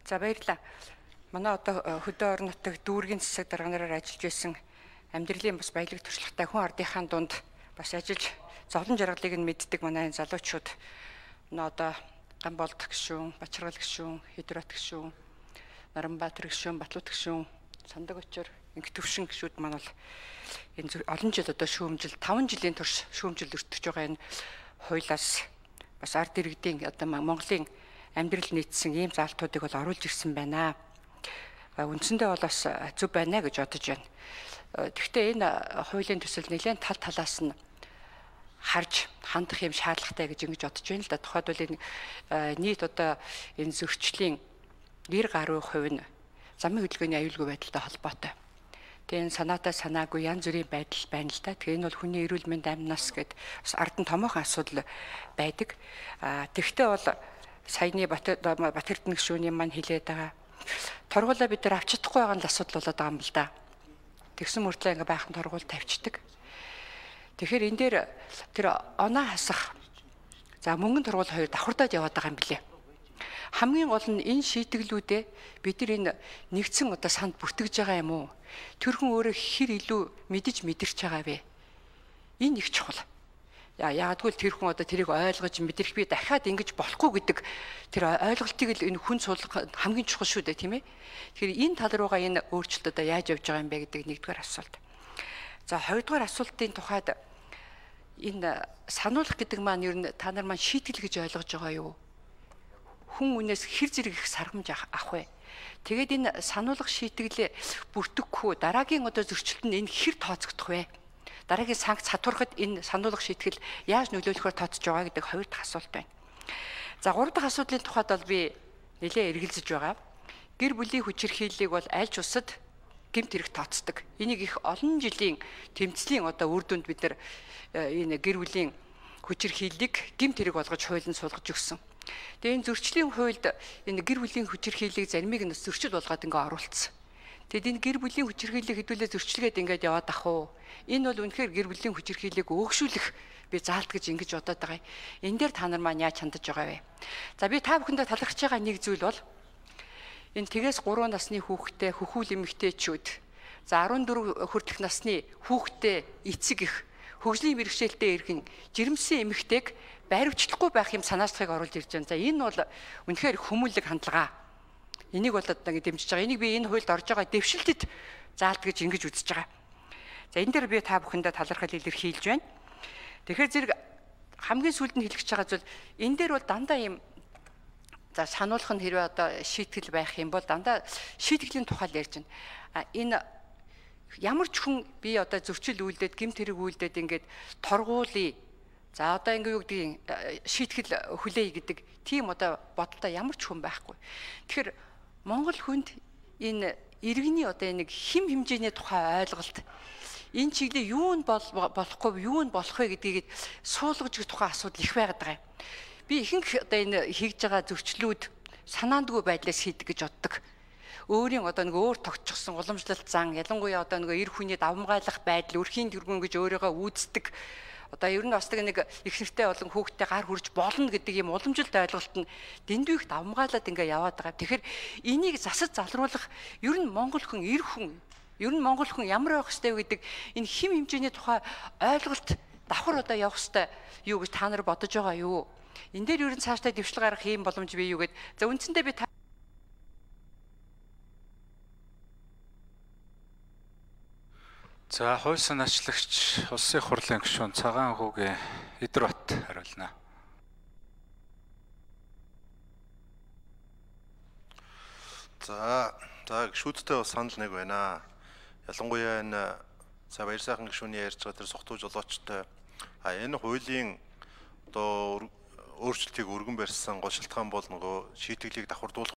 За баярлалаа. Манай одоо хөдөө орон нутаг дүүргийн засаг дарганаараар ажиллаж байсан амьдралын бас баялаг туршлагатай хүн ардынхаа дунд бас ажиллаж зовлон жаргалыг нь мэддэг манай залуучууд одоо Гамболд гишүүн, Бачаргал гишүүн, Хэдрот гишүүн, Наранбаатар гишүүн, Батлууд гишүүн, Сандаг очор, Инх төвшин гишүүд маань бол энэ олон жил одоо шүүмжил 5 жилийн турш шүүмжил өртөж байгаа энэ хуулиас бас ард иргэдийн одоо Монголын амьдрал нийцсэн ийм заалтуудыг бол оруулж ирсэн байна. Үндсэндээ бол бас зөв байна гэж бодож байна. Гэхдээ энэ хуулийн төсөл нэлээд тал талаас нь харж хандах юм шаардлагатай гэж ингэж бодож байна л да. Тухайдвал энэ нийт одоо энэ зөрчлийн 90% нь замын хөдөлгөөний аюулгүй байдалтай холбоотой. Тэгээ энэ санаатай санаагүй янз бүрийн байдал байна л да. Тэгээ энэ бол хүний эрүүл мэнд амь нас гэд бас ард нь томоохон асуудал байдаг. Тэгвэл бол саяны Батэрдэн гишүүний маань хэлээд байгаа. Торгуулаа бид нар авч чадахгүй байгаа нь асуудал болоод байгаа юм л да. Тэгсэн мөртлөө ингээ байхын торгуул тавьчихдаг. Тэгэхээр энэ дээр тэр оноо хасах за мөнгөн торгуул хоёр давхардаад яваад байгаа юм билээ. Хамгийн гол нь энэ шийтгэлүүдээ бид нар энэ нэгдсэн одоо санд бүртгэж байгаа юм уу? Тэр хүн өөрөө хэр илүү мэдэрч байгаа вэ? Энэ их чухал. Яагадгүй тэр хүн одоо тэрийг ойлгож мэдрэх би дахиад ингэж болохгүй гэдэг тэр ойлголтыг л энэ хүн суулгах хамгийн чухал шүү дээ, тийм ээ. Тэгэхээр энэ тал руугаа энэ өөрчлөлт одоо яаж явж байгаа юм бэ гэдэг нэгдүгээр асуулт. За хоёрдугаар асуултын тухайд энэ сануулгах гэдэг маань ер нь та нар маань шийтгэл гэж ойлгож байгаа юу? Хүн үнээс хэр зэрэг их саргамж авах вэ? Тэгээд энэ сануулгах шийтгэлээ бүртгэхгүй дараагийн одоо зөрчилдөнд энэ хэр тооцогдох вэ? Дараагийн санкц хатуурахад энэ сануулгах шийтгэл яаж нөлөөлөхөөр тооцож байгаа гэдэг хоёр дахь асуулт байна. За гурав дахь асуудлын тухайд бол би нэлээд эргэлзэж байгаа. Гэр бүлийн хүчирхийллийг бол аль ч улсад гэмт хэрэг тооцдог. Энийг их олон жилийн тэмцлийн одоо үр дүнд бид нар энэ гэр бүлийн хүчирхийллийг гэмт хэрэг болгож хуулинд суулгаж өгсөн. Тэгээ энэ зөрчлийн хуульд энэ гэр бүлийн хүчирхийллийг заримыг нь зөрчил болгоод ингээ оруулсан. Тэгэд энэ гэр бүлийн хүчирхийллийг хэдүүлээ зөрчилгээд ингээд яваад ах уу? Энэ бол үнэхээр гэр бүлийн хүчирхийллийг өөгшүүлэх би заалт гэж ингэж бодоод байгаа. Энэ дээр та нар маань яаж хандаж байгаа вэ? За би та бүхэндээ талархаж байгаа нэг зүйл бол энэ тэгээс 3 насны хүүхэдтэй хөхүүл эмэгтэйчүүд за 14 хүртэлх насны хүүхэдтэй эцэг их хөгжлийн бэрхшээлтэй иргэн жирэмсэн эмэгтэйг баривчлахгүй байх юм санаачлахыг оруулж ирж байна. За энэ бол үнэхээр хүмүүнлэг хандлага. Энийг бол одоо дэмжиж байгаа. Энийг би энэ хуульд орж байгаа дэвшилтэд заалт гэж ингэж үзэж байгаа. За энэ дээр би та бүхэндээ талархал илэрхийлж байна. Тэгэхээр зэрэг хамгийн сүүлд нь хэлэх гэж байгаа зүйл энэ дээр бол дандаа юм за сануулгах нь хэрвээ одоо шийтгэл байх юм бол дандаа шийтгэлийн тухай л ярьж байна. Энэ ямар ч хүн би одоо зөрчил үйлдээд гэмт хэрэг үйлдээд ингээд торгуулъя. За одоо ингээ юу гэдгийг шийтгэл хүлээе гэдэг тийм одоо бодолтой ямар ч хүн байхгүй. Тэгэхээр Монгол хүнд энэ иргэний одоо нэг хим хэмжээний тухай ойлголт энэ чиглэлээ юу нь болохгүй юу нь болох вэ гэдгийг суулгаж өгөх тухай асуудал их байгаад байгаа юм. Би ихэнх одоо энэ хийж байгаа зөрчлүүд санаандгүй байдлаас хийдэг гэж боддог. Өөрийн одоо нэг өөр тогтчихсон уламжлалт зан ялангуяа одоо нэг эр хүний давмгайлах байдал өрхийн тэргүүн гэж өөрийгөө үздэг. Одоо ер нь бас нэг их нэртэй болон хүүхдтэй гар хүрж болно гэдэг юм уламжилт ойлголт нь дэндүү их давмгаалаад ингээ яваад байгаа. Тэгэхээр энийг засаж залруулах ер нь монгол хүн эр хүн ер нь монгол хүн ямар байх ёстой вэ гэдэг энэ хим хэмжээний тухай ойлголт давхар одоо явах ёстой юу гэж та нар бодож байгаа юу? Энэ дээр ер нь цаашдаа дэвшил гаргах юм боломж бий юу гэд. За үндсэндээ би За хууль санаачлагч улсын хурлын гишүүн Цагаан хүүгийн Хэдрот хариулна. За гишүүдтэй бас санал нэг байна. Ялангуяа энэ баяр сайхан гишүүний ярьж байгаа тэр сухтуу жолоочтой энэ хуулийн одоо өөрчлөлтийг өргөн барьсан гол шалтгаан бол нөгөө шийтгэлийг давхардуулах